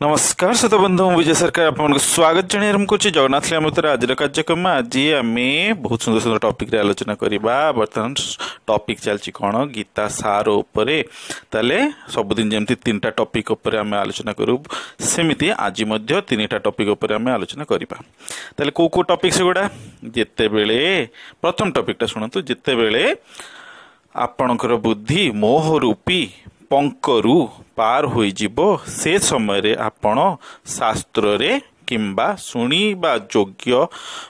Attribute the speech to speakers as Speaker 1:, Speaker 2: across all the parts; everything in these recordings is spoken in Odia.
Speaker 1: ନମସ୍କାର ଶ୍ରୋତା ବନ୍ଧୁ, ମୁଁ ବିଜୟ ସରକାର ଆପଣଙ୍କୁ ସ୍ୱାଗତ ଜଣାଇ ଆରମ୍ଭ କରୁଛି ଜଗନ୍ନାଥ ଲୀଳାମୃତର ଆଜିର କାର୍ଯ୍ୟକ୍ରମ। ଆଜି ଆମେ ବହୁତ ସୁନ୍ଦର ସୁନ୍ଦର ଟପିକରେ ଆଲୋଚନା କରିବା। ବର୍ତ୍ତମାନ ଟପିକ ଚାଲିଛି କ'ଣ? ଗୀତା ସାର ଉପରେ। ତାହେଲେ ସବୁଦିନ ଯେମିତି ତିନିଟା ଟପିକ ଉପରେ ଆମେ ଆଲୋଚନା କରୁ, ସେମିତି ଆଜି ମଧ୍ୟ ତିନିଟା ଟପିକ ଉପରେ ଆମେ ଆଲୋଚନା କରିବା। ତାହେଲେ କୋଉ କୋଉ ଟପିକ ସେଗୁଡ଼ା? ଯେତେବେଳେ ପ୍ରଥମ ଟପିକଟା ଶୁଣନ୍ତୁ, ଯେତେବେଳେ ଆପଣଙ୍କର ବୁଦ୍ଧି ମୋହ ରୂପୀ ପଙ୍କରୁ ପାର ହୋଇଯିବ, ସେ ସମୟରେ ଆପଣ ଶାସ୍ତ୍ରରେ କିମ୍ବା ଶୁଣିବା ଯୋଗ୍ୟ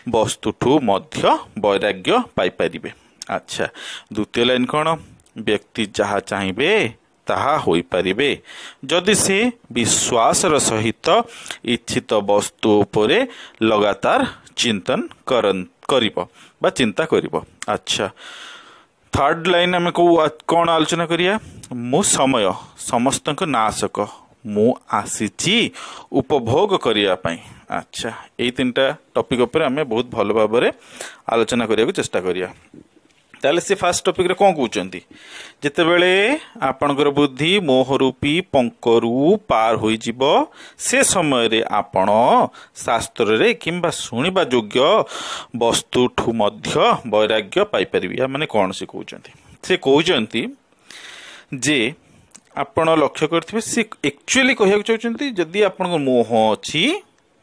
Speaker 1: ବସ୍ତୁଠୁ ମଧ୍ୟ ବୈରାଗ୍ୟ ପାଇପାରିବେ। ଆଚ୍ଛା, ଦ୍ୱିତୀୟ ଲାଇନ୍ କ'ଣ? ବ୍ୟକ୍ତି ଯାହା ଚାହିଁବେ ତାହା ହୋଇପାରିବେ ଯଦି ସେ ବିଶ୍ୱାସର ସହିତ ଇଚ୍ଛିତ ବସ୍ତୁ ଉପରେ ଲଗାତାର ଚିନ୍ତନ କରିବ ବା ଚିନ୍ତା କରିବ। ଆଚ୍ଛା, ଥାର୍ଡ ଲାଇନ୍ ଆମେ କୋଉ କ'ଣ ଆଲୋଚନା କରିବା? ମୁଁ ସମୟ ସମସ୍ତଙ୍କ ନାଶକ, ମୁଁ ଆସିଛି ଉପଭୋଗ କରିବା ପାଇଁ। ଆଚ୍ଛା, ଏଇ ତିନିଟା ଟପିକ ଉପରେ ଆମେ ବହୁତ ଭଲ ଭାବରେ ଆଲୋଚନା କରିବାକୁ ଚେଷ୍ଟା କରିବା। ତାହେଲେ ସେ ଫାର୍ଷ୍ଟ ଟପିକରେ କ'ଣ କହୁଛନ୍ତି? ଯେତେବେଳେ ଆପଣଙ୍କର ବୁଦ୍ଧି ମୋହ ରୂପୀ ପଙ୍କରୁ ପାର ହୋଇଯିବ, ସେ ସମୟରେ ଆପଣ ଶାସ୍ତ୍ରରେ କିମ୍ବା ଶୁଣିବା ଯୋଗ୍ୟ ବସ୍ତୁଠୁ ମଧ୍ୟ ବୈରାଗ୍ୟ ପାଇପାରିବେ। ୟା ମାନେ କ'ଣ ସେ କହୁଛନ୍ତି? ସେ କହୁଛନ୍ତି ଯେ ଆପଣ ଲକ୍ଷ୍ୟ କରିଥିବେ, ସେ ଆକ୍ଚୁଆଲି କହିବାକୁ ଚାହୁଁଛନ୍ତି ଯଦି ଆପଣଙ୍କ ମୋହ ଅଛି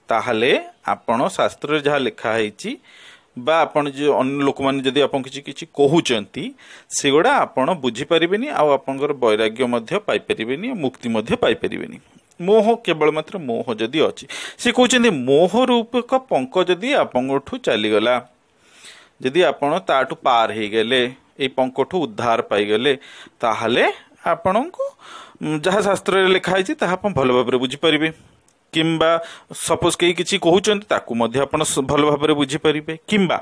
Speaker 1: ତାହେଲେ ଆପଣ ଶାସ୍ତ୍ରରେ ଯାହା ଲେଖା ହେଇଛି ବା ଆପଣ ଯେଉଁ ଅନ୍ୟ ଲୋକମାନେ ଯଦି ଆପଣ କିଛି କିଛି କହୁଛନ୍ତି ସେଗୁଡ଼ା ଆପଣ ବୁଝିପାରିବେନି, ଆଉ ଆପଣଙ୍କର ବୈରାଗ୍ୟ ମଧ୍ୟ ପାଇପାରିବେନି, ମୁକ୍ତି ମଧ୍ୟ ପାଇପାରିବେନି। ମୋହ, କେବଳ ମାତ୍ର ମୋହ ଯଦି ଅଛି, ସେ କହୁଛନ୍ତି ମୋହ ରୂପକ ପଙ୍କ ଯଦି ଆପଣଙ୍କଠୁ ଚାଲିଗଲା, ଯଦି ଆପଣ ତାଠୁ ପାର ହେଇଗଲେ, ଏଇ ପଙ୍କଠୁ ଉଦ୍ଧାର ପାଇଗଲେ, ତାହେଲେ ଆପଣଙ୍କୁ ଯାହା ଶାସ୍ତ୍ରରେ ଲେଖା ହେଇଛି ତାହା ଆପଣ ଭଲ ଭାବରେ ବୁଝିପାରିବେ। କିମ୍ବା ସପୋଜ କେହି କିଛି କହୁଛନ୍ତି ତାକୁ ମଧ୍ୟ ଆପଣ ଭଲ ଭାବରେ ବୁଝିପାରିବେ। କିମ୍ବା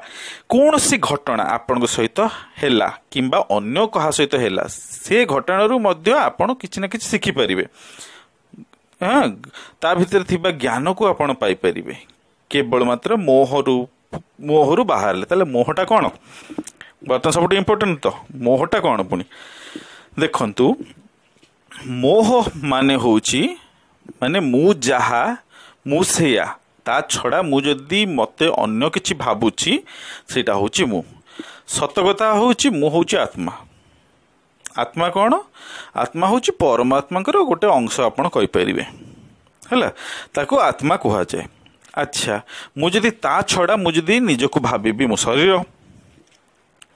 Speaker 1: କୌଣସି ଘଟଣା ଆପଣଙ୍କ ସହିତ ହେଲା କିମ୍ବା ଅନ୍ୟ କାହା ସହିତ ହେଲା, ସେ ଘଟଣାରୁ ମଧ୍ୟ ଆପଣ କିଛି ନା କିଛି ଶିଖିପାରିବେ। ହଁ, ତା ଭିତରେ ଥିବା ଜ୍ଞାନକୁ ଆପଣ ପାଇପାରିବେ କେବଳ ମାତ୍ର ମୋହରୁ ବାହାରିଲେ। ତାହେଲେ ମୋହଟା କ'ଣ? ବର୍ତ୍ତମାନ ସବୁଠୁ ଇମ୍ପୋର୍ଟାଣ୍ଟ ତ ମୋହଟା କ'ଣ? ପୁଣି ଦେଖନ୍ତୁ, ମୋହ ମାନେ ହେଉଛି ମାନେ ମୁଁ ଯାହା ମୁଁ ସେଇଆ, ତା ଛଡ଼ା ମୁଁ ଯଦି ମୋତେ ଅନ୍ୟ କିଛି ଭାବୁଛି ସେଇଟା ହେଉଛି ମୁଁ। ସତ କଥା ହେଉଛି ମୁଁ ହେଉଛି ଆତ୍ମା। ଆତ୍ମା କ'ଣ? ଆତ୍ମା ହେଉଛି ପରମାତ୍ମାଙ୍କର ଗୋଟେ ଅଂଶ ଆପଣ କହିପାରିବେ, ହେଲା, ତାକୁ ଆତ୍ମା କୁହାଯାଏ। ଆଚ୍ଛା, ମୁଁ ଯଦି ତା ଛଡ଼ା ମୁଁ ଯଦି ନିଜକୁ ଭାବିବି ମୋ ଶରୀର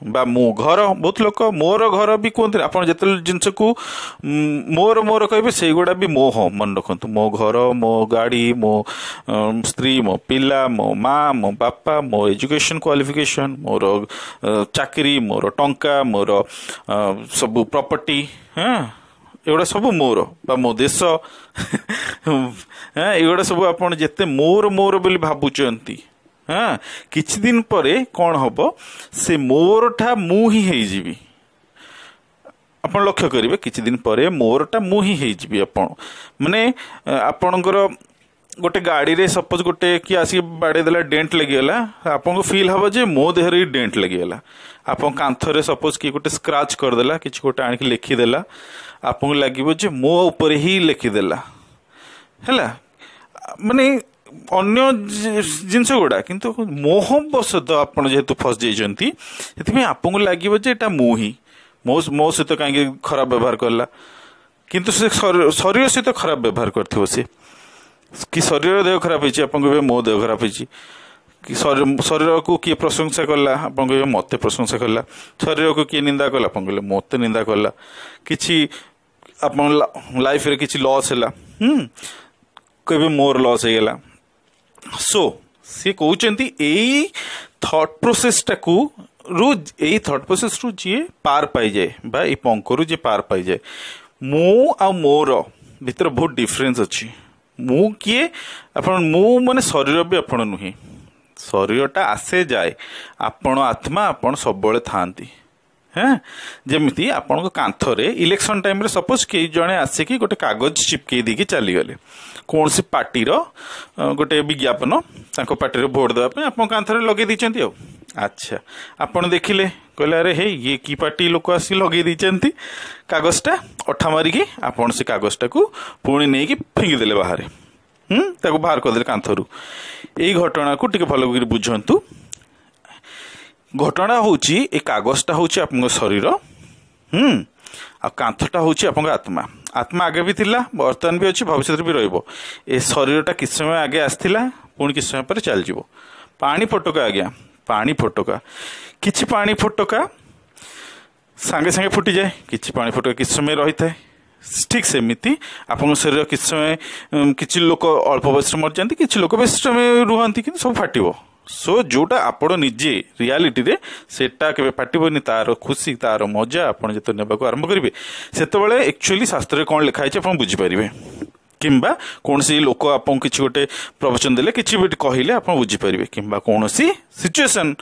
Speaker 1: ବା ମୁଁ ଘର, ବହୁତ ଲୋକ ମୋର ଘର ବି କୁହନ୍ତି। ଆପଣ ଯେତେବେଳେ ଜିନିଷକୁ ମୋର ମୋର କହିବେ ସେଇଗୁଡ଼ା ବି ମୋହ। ମନେ ରଖନ୍ତୁ, ମୋ ଘର, ମୋ ଗାଡ଼ି, ମୋ ସ୍ତ୍ରୀ, ମୋ ପିଲା, ମୋ ମା, ମୋ ବାପା, ମୋ ଏଜୁକେସନ୍ କ୍ୱାଲିଫିକେସନ୍, ମୋର ଚାକିରି, ମୋର ଟଙ୍କା, ମୋର ସବୁ ପ୍ରପର୍ଟି, ହଁ, ଏଗୁଡ଼ା ସବୁ ମୋର, ବା ମୋ ଦେଶ, ହଁ, ଏଗୁଡ଼ା ସବୁ ଆପଣ ଯେତେ ମୋର ମୋର ବୋଲି ଭାବୁଛନ୍ତି, ହଁ, କିଛି ଦିନ ପରେ କ'ଣ ହବ, ସେ ମୋରଟା ମୁଁ ହିଁ ହେଇଯିବି। ଆପଣ ଲକ୍ଷ୍ୟ କରିବେ କିଛି ଦିନ ପରେ ମୋରଟା ମୁଁ ହିଁ ହେଇଯିବି। ଆପଣ ମାନେ ଆପଣଙ୍କର ଗୋଟେ ଗାଡ଼ିରେ ସପୋଜ ଗୋଟେ କିଏ ଆସିକି ବାଡ଼େଇ ଦେଲା, ଡେଣ୍ଟ ଲାଗିଗଲା, ଆପଣଙ୍କୁ ଫିଲ୍ ହବ ଯେ ମୋ ଦେହରେ ହିଁ ଡେଣ୍ଟ ଲାଗିଗଲା। ଆପଣ କାନ୍ଥରେ ସପୋଜ କିଏ ଗୋଟେ ସ୍କ୍ରାଚ୍ କରିଦେଲା, କିଛି ଗୋଟେ ଆଣିକି ଲେଖିଦେଲା, ଆପଣଙ୍କୁ ଲାଗିବ ଯେ ମୋ ଉପରେ ହିଁ ଲେଖିଦେଲା, ହେଲା, ମାନେ ଅନ୍ୟ ଜିନିଷ ଗୁଡ଼ା। କିନ୍ତୁ ମୋହ ବଶତଃ ଆପଣ ଯେହେତୁ ଫସି ଯାଇଛନ୍ତି, ସେଥିପାଇଁ ଆପଣଙ୍କୁ ଲାଗିବ ଯେ ଏଇଟା ମୁଁ ହିଁ, ମୋ ସହିତ କାହିଁକି ଖରାପ ବ୍ୟବହାର କଲା। କିନ୍ତୁ ସେ ଶରୀର ସହିତ ଖରାପ ବ୍ୟବହାର କରିଥିବ ସେ, କି ଶରୀର ଦେହ ଖରାପ ହେଇଛି, ଆପଣ କହିବେ ମୋ ଦେହ ଖରାପ ହେଇଛି। କି ଶରୀରକୁ କିଏ ପ୍ରଶଂସା କଲା, ଆପଣ କହିବେ ମୋତେ ପ୍ରଶଂସା କଲା। ଶରୀରକୁ କିଏ ନିନ୍ଦା କଲା, ଆପଣ କହିଲେ ମୋତେ ନିନ୍ଦା କଲା। କିଛି ଆପଣ ଲାଇଫରେ କିଛି ଲସ୍ ହେଲା, କହିବେ ମୋର ଲସ୍ ହେଇଗଲା। ସୋ ସିଏ କହୁଛନ୍ତି ଏଇ ଥଟ୍ ପ୍ରୋସେସଟାକୁ ରୁ, ଏଇ ଥଟ୍ ପ୍ରୋସେସରୁ ଯିଏ ପାର ପାଇଯାଏ ବା ଏଇ ପଙ୍କରୁ ଯିଏ ପାର ପାଇଯାଏ, ମୁଁ ଆଉ ମୋର ଭିତରେ ବହୁତ ଡିଫରେନ୍ସ ଅଛି। ମୁଁ କିଏ? ଆପଣ ମୁଁ ମାନେ ଶରୀର ବି ଆପଣ ନୁହେଁ, ଶରୀରଟା ଆସେ ଯାଏ, ଆପଣ ଆତ୍ମା, ଆପଣ ସବୁବେଳେ ଥାଆନ୍ତି। ହଁ, ଯେମିତି ଆପଣଙ୍କ କାନ୍ଥରେ ଇଲେକ୍ସନ ଟାଇମ୍ରେ ସପୋଜ କେହି ଜଣେ ଆସିକି ଗୋଟେ କାଗଜ ଚିପକେଇ ଦେଇକି ଚାଲିଗଲେ, କୌଣସି ପାର୍ଟିର ଗୋଟେ ବିଜ୍ଞାପନ ତାଙ୍କ ପାର୍ଟିରେ ଭୋଟ ଦେବା ପାଇଁ ଆପଣଙ୍କ କାନ୍ଥରେ ଲଗେଇ ଦେଇଛନ୍ତି ଆଉ। ଆଚ୍ଛା, ଆପଣ ଦେଖିଲେ, କହିଲେ ଆରେ ହେଇ ଇଏ କି ପାର୍ଟି ଲୋକ ଆସିକି ଲଗେଇ ଦେଇଛନ୍ତି କାଗଜଟା, ଅଠା ମାରିକି ଆପଣ ସେ କାଗଜଟାକୁ ପୁଣି ନେଇକି ଫିଙ୍ଗିଦେଲେ ବାହାରେ। ତାକୁ ବାହାର କରିଦେଲେ କାନ୍ଥରୁ। ଏଇ ଘଟଣାକୁ ଟିକେ ଭଲ କରି ବୁଝନ୍ତୁ। ଘଟଣା ହେଉଛି, ଏ କାଗଜଟା ହେଉଛି ଆପଣଙ୍କ ଶରୀର, ଆଉ କାନ୍ଥଟା ହେଉଛି ଆପଣଙ୍କ ଆତ୍ମା। ଆତ୍ମା ଆଗେ ବି ଥିଲା, ବର୍ତ୍ତମାନ ବି ଅଛି, ଭବିଷ୍ୟତରେ ବି ରହିବ। ଏ ଶରୀରଟା କିଛି ସମୟ ଆଗେ ଆସିଥିଲା, ପୁଣି କିଛି ସମୟ ପରେ ଚାଲିଯିବ। ପାଣି ଫୋଟକା ଆଜ୍ଞା, ପାଣି ଫୋଟକା, କିଛି ପାଣି ଫୋଟକା ସାଙ୍ଗେ ସାଙ୍ଗେ ଫୁଟିଯାଏ, କିଛି ପାଣି ଫୋଟକା କିଛି ସମୟ ରହିଥାଏ। ଠିକ୍ ସେମିତି ଆପଣଙ୍କ ଶରୀର କିଛି ସମୟ, କିଛି ଲୋକ ଅଳ୍ପ ବୟସରେ ମରିଯାଆନ୍ତି, କିଛି ଲୋକ ବେଶୀ ସମୟ ରୁହନ୍ତି, କିନ୍ତୁ ସବୁ ଫାଟିବ। ସୋ ଯେଉଁଟା ଆପଣ ନିଜେ ରିଆଲିଟିରେ ସେଟା କେବେ ଫାଟିବନି। ତାର ଖୁସି, ତାର ମଜା ଆପଣ ଯେତେବେଳେ ନେବାକୁ ଆରମ୍ଭ କରିବେ, ସେତେବେଳେ ଆକ୍ଚୁଆଲି ଶାସ୍ତ୍ରରେ କ'ଣ ଲେଖା ହେଇଛି ଆପଣ ବୁଝିପାରିବେ। କିମ୍ବା କୌଣସି ଲୋକ ଆପଣଙ୍କୁ କିଛି ଗୋଟେ ପ୍ରବଚନ ଦେଲେ, କିଛି ବି କହିଲେ ଆପଣ ବୁଝିପାରିବେ। କିମ୍ବା କୌଣସି ସିଚୁଏସନ୍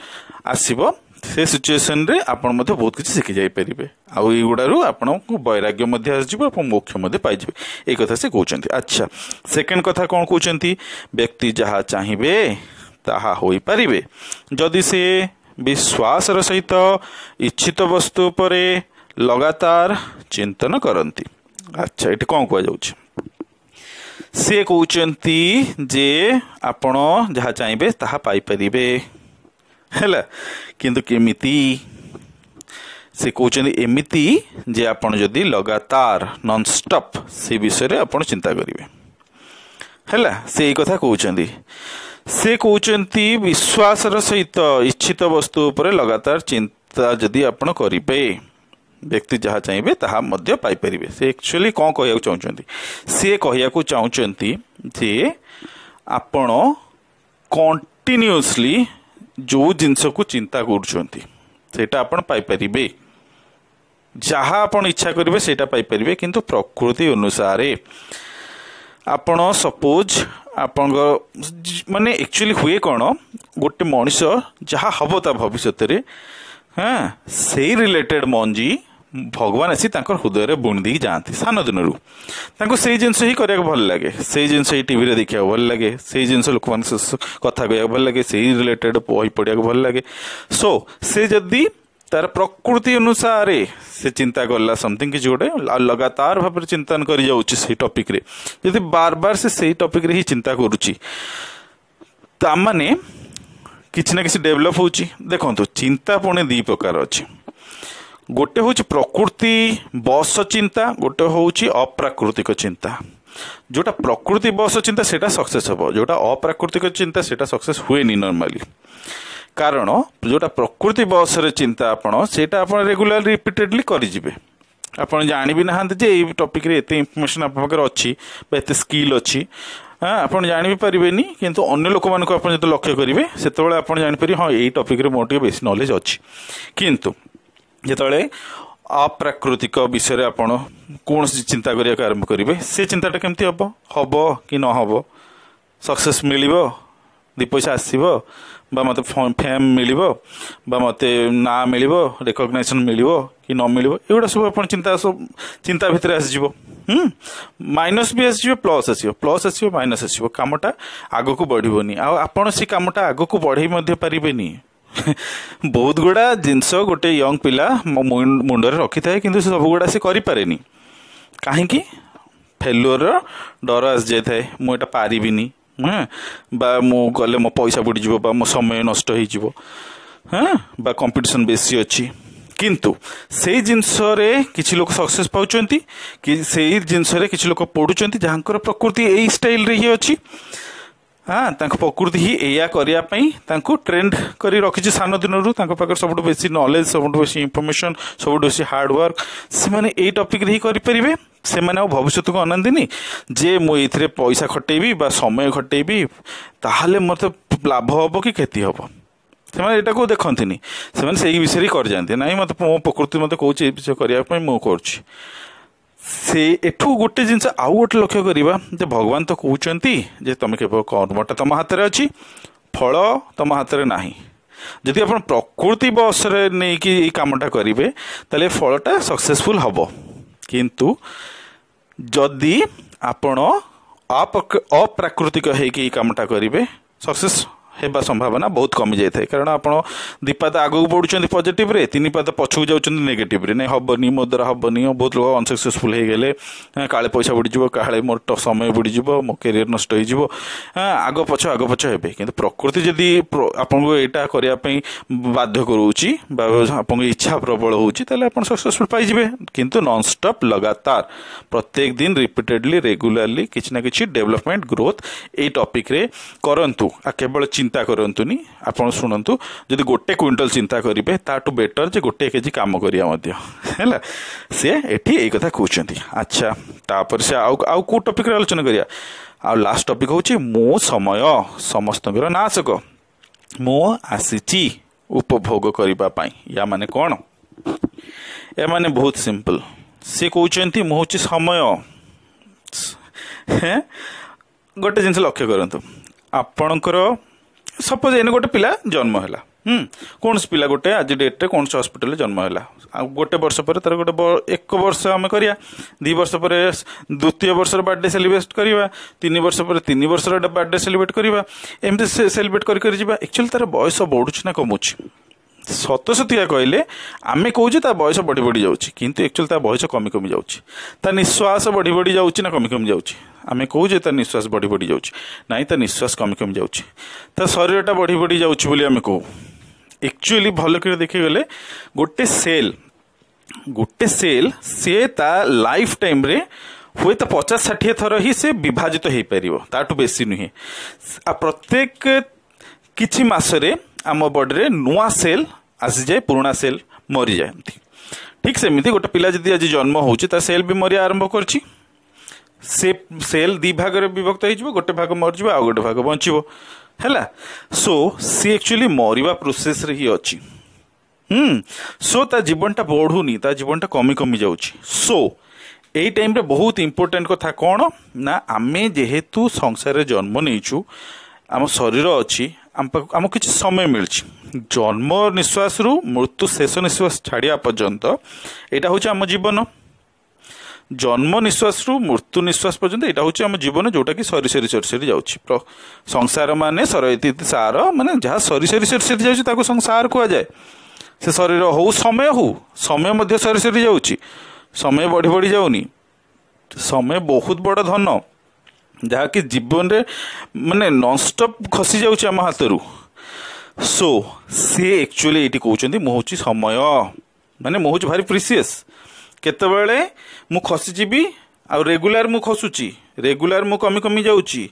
Speaker 1: ଆସିବ, ସେ ସିଚୁଏସନ୍ରେ ଆପଣ ମଧ୍ୟ ବହୁତ କିଛି ଶିଖି ଯାଇପାରିବେ। ଆଉ ଏଇଗୁଡ଼ାରୁ ଆପଣଙ୍କୁ ବୈରାଗ୍ୟ ମଧ୍ୟ ଆସିଯିବ, ଆପଣ ମୋକ୍ଷ ମଧ୍ୟ ପାଇଯିବେ। ଏଇ କଥା ସେ କହୁଛନ୍ତି। ଆଚ୍ଛା, ସେକେଣ୍ଡ କଥା କ'ଣ କହୁଛନ୍ତି? ବ୍ୟକ୍ତି ଯାହା ଚାହିଁବେ ତାହା ହୋଇପାରିବେ, ଯଦି ସେ ବିଶ୍ୱାସର ସହିତ ଇଚ୍ଛିତ ବସ୍ତୁ ଉପରେ ଲଗାତାର ଚିନ୍ତନ କରନ୍ତି। ଆଚ୍ଛା, ଏଠି କ'ଣ କୁହାଯାଉଛି? ସେ କହୁଛନ୍ତି ଯେ ଆପଣ ଯାହା ଚାହିଁବେ ତାହା ପାଇପାରିବେ, ହେଲା, କିନ୍ତୁ କେମିତି? ସେ କହୁଛନ୍ତି ଏମିତି ଯେ ଆପଣ ଯଦି ଲଗାତାର ନନଷ୍ଟପ୍ ସେ ବିଷୟରେ ଆପଣ ଚିନ୍ତା କରିବେ, ହେଲା। ସେ ଏଇ କଥା କହୁଛନ୍ତି। ସେ କହୁଛନ୍ତି ବିଶ୍ୱାସର ସହିତ ଇଚ୍ଛିତ ବସ୍ତୁ ଉପରେ ଲଗାତାର ଚିନ୍ତା ଯଦି ଆପଣ କରିବେ, ବ୍ୟକ୍ତି ଯାହା ଚାହିଁବେ ତାହା ମଧ୍ୟ ପାଇପାରିବେ। ସେ ଆକ୍ଚୁଆଲି କ'ଣ କହିବାକୁ ଚାହୁଁଛନ୍ତି? ସେ କହିବାକୁ ଚାହୁଁଛନ୍ତି ଯେ ଆପଣ କଣ୍ଟିନ୍ୟୁଅସଲି ଯେଉଁ ଜିନିଷକୁ ଚିନ୍ତା କରୁଛନ୍ତି ସେଇଟା ଆପଣ ପାଇପାରିବେ। ଯାହା ଆପଣ ଇଚ୍ଛା କରିବେ ସେଇଟା ପାଇପାରିବେ, କିନ୍ତୁ ପ୍ରକୃତି ଅନୁସାରେ। ଆପଣ ସପୋଜ ଆପଣଙ୍କ ମାନେ ଆକ୍ଚୁଆଲି ହୁଏ କ'ଣ, ଗୋଟେ ମଣିଷ ଯାହା ହବ ତା ଭବିଷ୍ୟତରେ, ହଁ, ସେଇ ରିଲେଟେଡ୍ ମଞ୍ଜି ଭଗବାନ ଆସି ତାଙ୍କର ହୃଦୟରେ ବୁଣି ଦେଇକି ଯାଆନ୍ତି ସାନ ଦିନରୁ। ତାଙ୍କୁ ସେଇ ଜିନିଷ ହିଁ କରିବାକୁ ଭଲ ଲାଗେ, ସେଇ ଜିନିଷ ହିଁ ଟିଭିରେ ଦେଖିବାକୁ ଭଲ ଲାଗେ, ସେଇ ଜିନିଷ ଲୋକମାନଙ୍କ କଥା କହିବାକୁ ଭଲ ଲାଗେ, ସେଇ ରିଲେଟେଡ୍ ବହି ପଢ଼ିବାକୁ ଭଲ ଲାଗେ। ସୋ ସେ ଯଦି ତାର ପ୍ରକୃତି ଅନୁସାରେ ସେ ଚିନ୍ତା କଲା ସମଥିଙ୍ଗ କିଛି ଗୋଟେ, ଆଉ ଲଗାତାର ଭାବରେ ଚିନ୍ତନ କରିଯାଉଛି ସେଇ ଟପିକ୍ରେ, ଯଦି ବାର ବାର ସେ ସେଇ ଟପିକ୍ରେ ହିଁ ଚିନ୍ତା କରୁଛି, ତାମାନେ କିଛି ନା କିଛି ଡେଭଲପ୍ ହେଉଛି। ଦେଖନ୍ତୁ, ଚିନ୍ତା ପୁଣି ଦୁଇ ପ୍ରକାର ଅଛି। ଗୋଟେ ହେଉଛି ପ୍ରକୃତି ବଶ ଚିନ୍ତା, ଗୋଟେ ହେଉଛି ଅପ୍ରାକୃତିକ ଚିନ୍ତା। ଯେଉଁଟା ପ୍ରକୃତି ବଶ ଚିନ୍ତା ସେଇଟା ସକ୍ସେସ୍ ହେବ, ଯେଉଁଟା ଅପ୍ରାକୃତିକ ଚିନ୍ତା ସେଇଟା ସକ୍ସେସ୍ ହୁଏନି ନର୍ମାଲି। କାରଣ ଯେଉଁଟା ପ୍ରକୃତି ବଶରେ ଚିନ୍ତା ଆପଣ, ସେଇଟା ଆପଣ ରେଗୁଲାର ରିପିଟେଡ଼ଲି କରିଯିବେ। ଆପଣ ଜାଣିବି ନାହାନ୍ତି ଯେ ଏଇ ଟପିକ୍ରେ ଏତେ ଇନଫର୍ମେସନ୍ ଆପଣଙ୍କ ପାଖରେ ଅଛି ବା ଏତେ ସ୍କିଲ୍ ଅଛି, ହଁ, ଆପଣ ଜାଣି ବି ପାରିବେନି। କିନ୍ତୁ ଅନ୍ୟ ଲୋକମାନଙ୍କୁ ଆପଣ ଯେତେବେଳେ ଲକ୍ଷ୍ୟ କରିବେ, ସେତେବେଳେ ଆପଣ ଜାଣିପାରିବେ, ହଁ, ଏଇ ଟପିକ୍ରେ ମୋର ଟିକେ ବେଶୀ ନଲେଜ୍ ଅଛି। କିନ୍ତୁ ଯେତେବେଳେ ଅପ୍ରାକୃତିକ ବିଷୟରେ ଆପଣ କୌଣସି ଚିନ୍ତା କରିବାକୁ ଆରମ୍ଭ କରିବେ, ସେ ଚିନ୍ତାଟା କେମିତି ହେବ, ହେବ କି ନ ହେବ, ସକ୍ସେସ୍ ମିଳିବ, ଦୁଇ ପଇସା ଆସିବ, ବା ମୋତେ ଫେମ୍ ମିଳିବ, ବା ମୋତେ ନାଁ ମିଳିବ, ରେକଗ୍ନାଇଜେସନ୍ ମିଳିବ କି ନ ମିଳିବ, ଏଗୁଡ଼ା ସବୁ ଆପଣ ଚିନ୍ତା, ସବୁ ଚିନ୍ତା ଭିତରେ ଆସିଯିବ। ମାଇନସ୍ ବି ଆସିଯିବ, ପ୍ଲସ୍ ଆସିବ, ପ୍ଲସ୍ ଆସିବ, ମାଇନସ୍ ଆସିବ, କାମଟା ଆଗକୁ ବଢ଼ିବନି। ଆଉ ଆପଣ ସେ କାମଟା ଆଗକୁ ବଢ଼େଇ ମଧ୍ୟ ପାରିବେନି। ବହୁତ ଗୁଡ଼ା ଜିନିଷ ଗୋଟେ ୟଙ୍ଗ ପିଲା ମୁଣ୍ଡରେ ରଖିଥାଏ, କିନ୍ତୁ ସେ ସବୁଗୁଡ଼ା ସେ କରିପାରେନି। କାହିଁକି? ଫେଲୁଅରର ଡର ଆସିଯାଇଥାଏ। ମୁଁ ଏଇଟା ପାରିବିନି, ହଁ, ବା ମୁଁ ଗଲେ ମୋ ପଇସା ବୁଡ଼ିଯିବ, ବା ମୋ ସମୟ ନଷ୍ଟ ହେଇଯିବ, ହଁ, ବା କମ୍ପିଟିସନ୍ ବେଶୀ ଅଛି। କିନ୍ତୁ ସେଇ ଜିନିଷରେ କିଛି ଲୋକ ସକ୍ସେସ୍ ପାଉଛନ୍ତି କି ସେଇ ଜିନିଷରେ କିଛି ଲୋକ ପଢ଼ୁଛନ୍ତି, ଯାହାଙ୍କର ପ୍ରକୃତି ଏଇ ଷ୍ଟାଇଲରେ ହିଁ ଅଛି। ହଁ, ତାଙ୍କ ପ୍ରକୃତି ହିଁ ଏଇଆ କରିବା ପାଇଁ ତାଙ୍କୁ ଟ୍ରେଣ୍ଡ କରି ରଖିଛି ସାନ ଦିନରୁ। ତାଙ୍କ ପାଖରେ ସବୁଠୁ ବେଶୀ ନଲେଜ, ସବୁଠୁ ବେଶୀ ଇନଫର୍ମେସନ୍, ସବୁଠୁ ବେଶୀ ହାର୍ଡୱାର୍କ, ସେମାନେ ଏଇ ଟପିକ୍ରେ ହିଁ କରିପାରିବେ। ସେମାନେ ଆଉ ଭବିଷ୍ୟତକୁ ଅନାନ୍ତିନି ଯେ ମୁଁ ଏଇଥିରେ ପଇସା ଖଟେଇବି ବା ସମୟ ଖଟେଇବି, ତାହେଲେ ମୋତେ ଲାଭ ହେବ କି କ୍ଷତି ହେବ। ସେମାନେ ଏଇଟାକୁ ଦେଖନ୍ତିନି, ସେମାନେ ସେଇ ବିଷୟରେ ହିଁ କରିଯାଆନ୍ତି। ନାଇଁ, ମୋତେ ମୋ ପ୍ରକୃତି ମୋତେ କହୁଛି ଏଇ ବିଷୟ କରିବା ପାଇଁ, ମୁଁ କରୁଛି। ସେ ଏଠୁ ଗୋଟେ ଜିନିଷ ଆଉ ଗୋଟେ ଲକ୍ଷ୍ୟ କରିବା ଯେ ଭଗବାନ ତ କହୁଛନ୍ତି ଯେ ତମେ କେବଳ କର୍ମଟା ତମ ହାତରେ ଅଛି, ଫଳ ତମ ହାତରେ ନାହିଁ। ଯଦି ଆପଣ ପ୍ରକୃତି ବଶରେ ନେଇକି ଏଇ କାମଟା କରିବେ, ତାହେଲେ ଫଳଟା ସକ୍ସେସଫୁଲ୍ ହେବ। କିନ୍ତୁ ଯଦି ଆପଣ ଅପ୍ରାକୃତିକ ହେଇକି ଏଇ କାମଟା କରିବେ, ସକ୍ସେସ୍ ହେବା ସମ୍ଭାବନା ବହୁତ କମିଯାଇଥାଏ। କାରଣ ଆପଣ 2 ପାଦ ଆଗକୁ ବଢ଼ୁଛନ୍ତି ପଜିଟିଭରେ, 3 ପାଦ ପଛକୁ ଯାଉଛନ୍ତି ନେଗେଟିଭରେ। ନାଇଁ ହେବନି, ମୋ ଦ୍ୱାରା ହେବନି, ବହୁତ ଲୋକ ଅନସକ୍ସେସଫୁଲ୍ ହେଇଗଲେ, କାଳେ ପଇସା ବୁଡ଼ିଯିବ, କାଳେ ମୋର ସମୟ ବୁଡ଼ିଯିବ, ମୋ କ୍ୟାରିୟର ନଷ୍ଟ ହେଇଯିବ, ଆଗ ପଛ ଆଗ ପଛ ହେବେ। କିନ୍ତୁ ପ୍ରକୃତି ଯଦି ଆପଣଙ୍କୁ ଏଇଟା କରିବା ପାଇଁ ବାଧ୍ୟ କରୁଛି ବା ଆପଣଙ୍କ ଇଚ୍ଛା ପ୍ରବଳ ହେଉଛି, ତାହେଲେ ଆପଣ ସକ୍ସେସଫୁଲ୍ ପାଇଯିବେ। କିନ୍ତୁ ନନଷ୍ଟପ୍ ଲଗାତାର ପ୍ରତ୍ୟେକ ଦିନ ରିପିଟେଡ଼ଲି ରେଗୁଲାରଲି କିଛି ନା କିଛି ଡେଭଲପମେଣ୍ଟ ଗ୍ରୋଥ୍ ଏଇ ଟପିକ୍ରେ କରନ୍ତୁ। ଆଉ କେବଳ ଚିନ୍ତା କରନ୍ତୁନି। ଆପଣ ଶୁଣନ୍ତୁ, ଯଦି 1 କୁଇଣ୍ଟାଲ ଚିନ୍ତା କରିବେ ତାଠୁ ବେଟର ଯେ 1 କେଜି କାମ କରିବା ମଧ୍ୟ ହେଲା। ସେ ଏଠି ଏଇ କଥା କହୁଛନ୍ତି। ଆଚ୍ଛା, ତାପରେ ସେ ଆଉ ଆଉ କେଉଁ ଟପିକ୍ରେ ଆଲୋଚନା କରିବା? ଆଉ ଲାଷ୍ଟ ଟପିକ୍ ହେଉଛି ମୁଁ ସମୟ ସମସ୍ତଙ୍କର ନାଶକ, ମୁଁ ଆସିଛି ଉପଭୋଗ କରିବା ପାଇଁ। ୟା ମାନେ କ'ଣ? ଏମାନେ ବହୁତ ସିମ୍ପଲ୍। ସେ କହୁଛନ୍ତି ମୁଁ ହେଉଛି ସମୟ। ଗୋଟେ ଜିନିଷ ଲକ୍ଷ୍ୟ କରନ୍ତୁ, ଆପଣଙ୍କର ସପୋଜ ଏଇନେ ଗୋଟେ ପିଲା ଜନ୍ମ ହେଲା, କୌଣସି ପିଲା ଗୋଟେ ଆଜି ଡେଟ୍ରେ କୌଣସି ହସ୍ପିଟାଲରେ ଜନ୍ମ ହେଲା, ଆଉ 1 ବର୍ଷ ପରେ ତାର ଗୋଟେ 1 ବର୍ଷ ଆମେ କରିବା, 2 ବର୍ଷ ପରେ ଦ୍ୱିତୀୟ ବର୍ଷର ବାର୍ଥଡେ ସେଲିବ୍ରେଟ୍ କରିବା, 3 ବର୍ଷ ପରେ 3 ବର୍ଷର ବାର୍ଥଡେ ସେଲିବ୍ରେଟ୍ କରିବା, ଏମିତି ସେଲିବ୍ରେଟ୍ କରି କରି ଯିବା। ଆକ୍ଚୁଆଲି ତାର ବୟସ ବଢ଼ୁଛି ନା କମୁଛି? ସତସତିକା କହିଲେ ଆମେ କହୁଛେ ତା ବୟସ ବଢ଼ି ବଢ଼ି ଯାଉଛି, କିନ୍ତୁ ଆକ୍ଚୁଆଲି ତା ବୟସ କମି କମି ଯାଉଛି। ତା ନିଶ୍ୱାସ ବଢ଼ି ବଢ଼ି ଯାଉଛି ନା କମି କମି ଯାଉଛି? ଆମେ କହୁଛେ ତା ନିଶ୍ୱାସ ବଢ଼ି ବଢ଼ି ଯାଉଛି, ନାଇଁ ତା ନିଶ୍ୱାସ କମି କମି ଯାଉଛି। ତା ଶରୀରଟା ବଢ଼ି ବଢ଼ି ଯାଉଛି ବୋଲି ଆମେ କହୁ। ଆକ୍ଚୁଆଲି ଭଲ କରି ଦେଖିଗଲେ ଗୋଟେ ସେଲ୍ ସିଏ ତା ଲାଇଫ୍ ଟାଇମ୍ରେ ହୁଏତ 50-60 ଥର ହିଁ ସେ ବିଭାଜିତ ହେଇପାରିବ, ତାଠୁ ବେଶୀ ନୁହେଁ। ଆଉ ପ୍ରତ୍ୟେକ କିଛି ମାସରେ ଆମ ବଡ଼ିରେ ନୂଆ ସେଲ୍ ଆସିଯାଏ, ପୁରୁଣା ସେଲ୍ ମରିଯାଆନ୍ତି। ଠିକ୍ ସେମିତି ଗୋଟେ ପିଲା ଯଦି ଆଜି ଜନ୍ମ ହେଉଛି, ତା ସେଲ୍ ବି ମରିବା ଆରମ୍ଭ କରିଛି। ସେ ସେଲ୍ 2 ଭାଗରେ ବିଭକ୍ତ ହେଇଯିବ, ଗୋଟେ ଭାଗ ମରିଯିବ ଆଉ ଗୋଟେ ଭାଗ ବଞ୍ଚିବ, ହେଲା। ସୋ ସିଏ ଆକ୍ଚୁଆଲି ମରିବା ପ୍ରୋସେସ୍ରେ ହିଁ ଅଛି। ସୋ ତା ଜୀବନଟା ବଢ଼ୁନି, ତା ଜୀବନଟା କମି କମି ଯାଉଛି। ସୋ ଏଇ ଟାଇମ୍ରେ ବହୁତ ଇମ୍ପୋର୍ଟାଣ୍ଟ କଥା କ'ଣ ନା, ଆମେ ଯେହେତୁ ସଂସାରରେ ଜନ୍ମ ନେଇଛୁ, ଆମ ଶରୀର ଅଛି, ଆମକୁ କିଛି ସମୟ ମିଳିଛି। ଜନ୍ମ ନିଶ୍ୱାସରୁ ମୃତ୍ୟୁ ଶେଷ ନିଶ୍ୱାସ ଛାଡ଼ିବା ପର୍ଯ୍ୟନ୍ତ ଏଇଟା ହେଉଛି ଆମ ଜୀବନ। ଜନ୍ମ ନିଶ୍ୱାସରୁ ମୃତ୍ୟୁ ନିଶ୍ୱାସ ପର୍ଯ୍ୟନ୍ତ ଏଇଟା ହେଉଛି ଆମ ଜୀବନ, ଯେଉଁଟାକି ସରି ସରି ସରି ସରି ଯାଉଛି। ସଂସାର ମାନେ ସରଇତି ସାର, ମାନେ ଯାହା ସରି ସରି ସରି ସରି ଯାଉଛି ତାକୁ ସଂସାର କୁହାଯାଏ। ସେ ଶରୀର ହଉ ସମୟ ହଉ, ସମୟ ମଧ୍ୟ ସରି ସରି ଯାଉଛି, ସମୟ ବଢ଼ି ବଢ଼ି ଯାଉନି। ସମୟ ବହୁତ ବଡ଼ ଧନ, ଯାହାକି ଜୀବନରେ ମାନେ ନନଷ୍ଟପ୍ ଖସି ଯାଉଛି ଆମ ହାତରୁ। ସୋ ସିଏ ଆକ୍ଚୁଆଲି ଏଇଠି କହୁଛନ୍ତି ମୁଁ ହେଉଛି ସମୟ, ମାନେ ମୁଁ ହେଉଛି ଭାରି ପ୍ରିସିୟସ୍। କେତେବେଳେ ମୁଁ ଖସିଯିବି, ଆଉ ରେଗୁଲାର ମୁଁ ଖସୁଛି, ରେଗୁଲାର ମୁଁ କମି କମି ଯାଉଛି।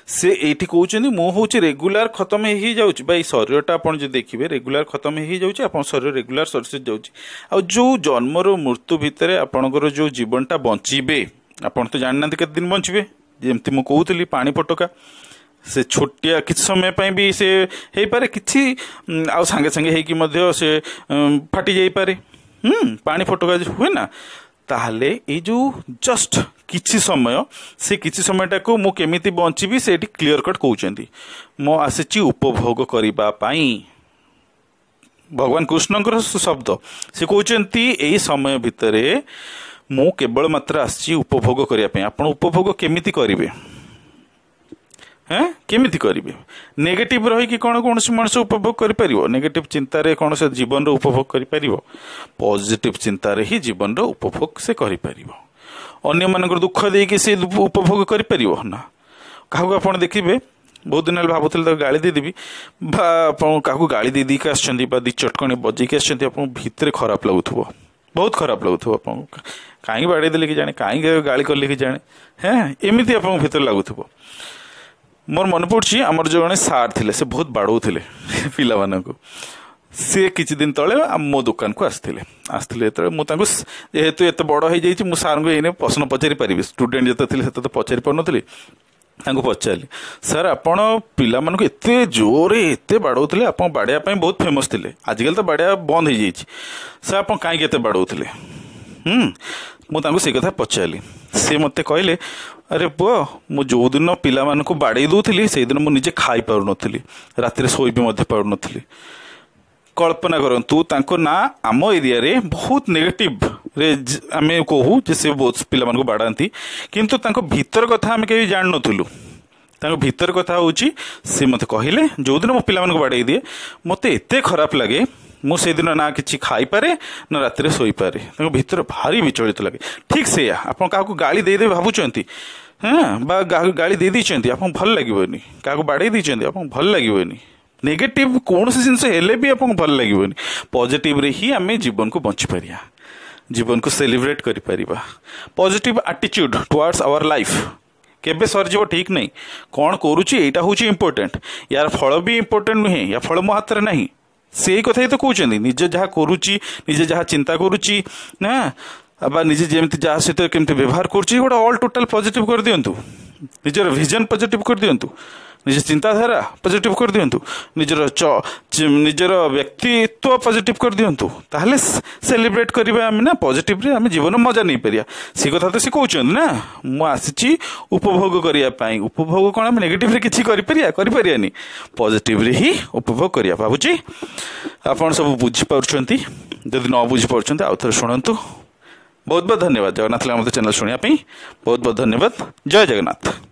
Speaker 1: ସେ ଏଇଠି କହୁଛନ୍ତି ମୁଁ ହେଉଛି ରେଗୁଲାର ଖତମ ହେଇଯାଉଛି। ବା ଏଇ ଶରୀରଟା ଆପଣ ଯଦି ଦେଖିବେ ରେଗୁଲାର ଖତମ ହେଇଯାଉଛି, ଆପଣଙ୍କ ଶରୀର ରେଗୁଲାର ସରି ସରି ଯାଉଛି। ଆଉ ଯେଉଁ ଜନ୍ମରୁ ମୃତ୍ୟୁ ଭିତରେ ଆପଣଙ୍କର ଯେଉଁ ଜୀବନଟା ବଞ୍ଚିବେ, ଆପଣ ତ ଜାଣିନାହାନ୍ତି କେତେ ଦିନ ବଞ୍ଚିବେ। ଯେମିତି ମୁଁ କହୁଥିଲି ପାଣି ଫୋଟକା, ସେ ଛୋଟିଆ କିଛି ସମୟ ପାଇଁ ବି ସେ ହେଇପାରେ, କିଛି ଆଉ ସାଙ୍ଗେ ସାଙ୍ଗେ ହେଇକି ମଧ୍ୟ ସେ ଫାଟି ଯାଇପାରେ। ପାଣି ଫୋଟକା ହୁଏ ନା। ତାହେଲେ ଏଇ ଯେଉଁ ଜଷ୍ଟ କିଛି ସମୟ, ସେ କିଛି ସମୟଟାକୁ ମୁଁ କେମିତି ବଞ୍ଚିବି ସେ ଏଠି କ୍ଲିଅର କଟ୍ କହୁଛନ୍ତି, ମୁଁ ଆସିଛି ଉପଭୋଗ କରିବା ପାଇଁ। ଭଗବାନ କୃଷ୍ଣଙ୍କର ଶବ୍ଦ, ସେ କହୁଛନ୍ତି ଏଇ ସମୟ ଭିତରେ ମୁଁ କେବଳ ମାତ୍ର ଆସିଛି ଉପଭୋଗ କରିବା ପାଇଁ। ଆପଣ ଉପଭୋଗ କେମିତି କରିବେ? କେମିତି କରିବେ? ନେଗେଟିଭ୍ ରହିକି କ'ଣ କୌଣସି ମଣିଷ ଉପଭୋଗ କରିପାରିବ? ନେଗେଟିଭ୍ ଚିନ୍ତାରେ କ'ଣ ସେ ଜୀବନର ଉପଭୋଗ କରିପାରିବ? ପଜିଟିଭ୍ ଚିନ୍ତାରେ ହିଁ ଜୀବନର ଉପଭୋଗ ସେ କରିପାରିବ। ଅନ୍ୟମାନଙ୍କର ଦୁଃଖ ଦେଇକି ସେ ଉପଭୋଗ କରିପାରିବ ନା। କାହାକୁ ଆପଣ ଦେଖିବେ, ବହୁତ ଦିନ ହେଲା ଭାବୁଥିଲେ ତାକୁ ଗାଳି ଦେଇଦେବି, ବା ଆପଣ କାହାକୁ ଗାଳି ଦେଇ ଦେଇକି ଆସିଛନ୍ତି ବା 2 ଚଟକଣି ବଜେଇକି ଆସିଛନ୍ତି, ଆପଣଙ୍କୁ ଭିତରେ ଖରାପ ଲାଗୁଥିବ, ବହୁତ ଖରାପ ଲାଗୁଥିବ ଆପଣଙ୍କୁ। କାହିଁକି ବାଡ଼େଇ ଦେଲେ କି ଜାଣେ, କାହିଁକି ଗାଳି କଲେ କି ଜାଣେ, ଏମିତି ଆପଣଙ୍କ ଭିତରେ ଲାଗୁଥିବ। ମୋର ମନେ ପଡ଼ୁଛି ଆମର ଜଣେ ସାର୍ ଥିଲେ, ସେ ବହୁତ ବାଡ଼ଉଥିଲେ ପିଲାମାନଙ୍କୁ। ସେ କିଛି ଦିନ ତଳେ ମୋ ଦୋକାନକୁ ଆସିଥିଲେ ଯେତେବେଳେ ମୁଁ ତାଙ୍କୁ, ଯେହେତୁ ଏତେ ବଡ଼ ହେଇଯାଇଛି ମୁଁ ସାର୍ଙ୍କୁ ଏଇନେ ପ୍ରଶ୍ନ ପଚାରି ପାରିବି, ଷ୍ଟୁଡେଣ୍ଟ ଯେତେ ଥିଲେ ସେତେ ତ ପଚାରି ପାରୁନଥିଲି। ତାଙ୍କୁ ପଚାରିଲି, ସାର୍ ଆପଣ ପିଲାମାନଙ୍କୁ ଏତେ ଜୋରରେ ଏତେ ବାଡ଼ଉଥିଲେ, ଆପଣ ବାଡ଼େଇବା ପାଇଁ ବହୁତ ଫେମସ୍ ଥିଲେ, ଆଜିକାଲି ତ ବାଡ଼େଇବା ବନ୍ଦ ହେଇଯାଇଛି, ସାର୍ ଆପଣ କାହିଁକି ଏତେ ବାଡ଼ଉଥିଲେ? ମୁଁ ତାଙ୍କୁ ସେଇ କଥା ପଚାରିଲି। ସେ ମୋତେ କହିଲେ, ଆରେ ପୁଅ, ମୁଁ ଯେଉଁଦିନ ପିଲାମାନଙ୍କୁ ବାଡ଼େଇ ଦେଉଥିଲି ସେଇଦିନ ମୁଁ ନିଜେ ଖାଇପାରୁନଥିଲି, ରାତିରେ ଶୋଇ ବି ମଧ୍ୟ ପାରୁନଥିଲି। କଳ୍ପନା କରନ୍ତୁ, ତାଙ୍କ ନାଁ ଆମ ଏରିଆରେ ବହୁତ ନେଗେଟିଭରେ ଆମେ କହୁ ଯେ ସେ ବହୁତ ପିଲାମାନଙ୍କୁ ବାଡ଼ାନ୍ତି, କିନ୍ତୁ ତାଙ୍କ ଭିତର କଥା ଆମେ କେହି ଜାଣିନଥିଲୁ। ତାଙ୍କ ଭିତର କଥା ହେଉଛି, ସେ ମୋତେ କହିଲେ ଯେଉଁଦିନ ମୋ ପିଲାମାନଙ୍କୁ ବାଡ଼େଇ ଦିଏ ମୋତେ ଏତେ ଖରାପ ଲାଗେ, ମୁଁ ସେଇଦିନ ନା କିଛି ଖାଇପାରେ ନା ରାତିରେ ଶୋଇପାରେ। ତାଙ୍କ ଭିତରେ ଭାରି ବିଚଳିତ ଲାଗେ। ଠିକ୍ ସେଇଆ, ଆପଣ କାହାକୁ ଗାଳି ଦେଇଦେବେ ଭାବୁଛନ୍ତି, ହଁ, ବା ଗାଳି ଦେଇ ଦେଇଛନ୍ତି, ଆପଣଙ୍କୁ ଭଲ ଲାଗିବନି। କାହାକୁ ବାଡ଼େଇ ଦେଇଛନ୍ତି, ଆପଣଙ୍କୁ ଭଲ ଲାଗିବନି। ନେଗେଟିଭ୍ କୌଣସି ଜିନିଷ ହେଲେ ବି ଆପଣଙ୍କୁ ଭଲ ଲାଗିବନି। ପଜିଟିଭ୍ରେ ହିଁ ଆମେ ଜୀବନକୁ ବଞ୍ଚିପାରିବା, ଜୀବନକୁ ସେଲିବ୍ରେଟ୍ କରିପାରିବା। Positive attitude towards our life କେବେ ସରିଯିବ ଠିକ୍ ନାହିଁ। କ'ଣ କରୁଛି ଏଇଟା ହେଉଛି ଇମ୍ପୋର୍ଟାଣ୍ଟ, ୟାର ଫଳ ବି ଇମ୍ପୋର୍ଟାଣ୍ଟ ନୁହେଁ, ୟା ଫଳ ମୋ ହାତରେ ନାହିଁ। ସେଇ କଥା ହିଁ ତ କହୁଛନ୍ତି, ନିଜେ ଯାହା କରୁଛି, ନିଜେ ଯାହା ଚିନ୍ତା କରୁଛି ନା, ବା ନିଜେ ଯେମିତି ଯାହା ସହିତ କେମିତି ବ୍ୟବହାର କରୁଛି, ଗୋଟେ ଅଲ୍ ଟୋଟାଲ୍ ପଜିଟିଭ୍ କରିଦିଅନ୍ତୁ। ନିଜର ଭିଜନ୍ ପଜିଟିଭ୍ କରିଦିଅନ୍ତୁ, ନିଜ ଚିନ୍ତାଧାରା ପଜିଟିଭ୍ କରିଦିଅନ୍ତୁ, ନିଜର ବ୍ୟକ୍ତିତ୍ୱ ପଜିଟିଭ୍ କରିଦିଅନ୍ତୁ, ତାହେଲେ ସେଲିବ୍ରେଟ୍ କରିବା ଆମେ ନା, ପଜିଟିଭ୍ରେ ଆମେ ଜୀବନ ମଜା ନେଇପାରିବା। ସେ କଥା ତ ସେ କହୁଛନ୍ତି ନା, ମୁଁ ଆସିଛି ଉପଭୋଗ କରିବା ପାଇଁ। ଉପଭୋଗ କ'ଣ ଆମେ ନେଗେଟିଭ୍ରେ କିଛି କରିପାରିବା? କରିପାରିବାନି। ପଜିଟିଭ୍ରେ ହିଁ ଉପଭୋଗ କରିବା। ଭାବୁଛି ଆପଣ ସବୁ ବୁଝିପାରୁଛନ୍ତି। ଯଦି ନ ବୁଝିପାରୁଛନ୍ତି ଆଉ ଥରେ ଶୁଣନ୍ତୁ। ବହୁତ ବହୁତ ଧନ୍ୟବାଦ ଜଗନ୍ନାଥ ଲୀଳାମୃତ ଚ୍ୟାନେଲ୍ ଶୁଣିବା ପାଇଁ। ବହୁତ ବହୁତ ଧନ୍ୟବାଦ। ଜୟ ଜଗନ୍ନାଥ।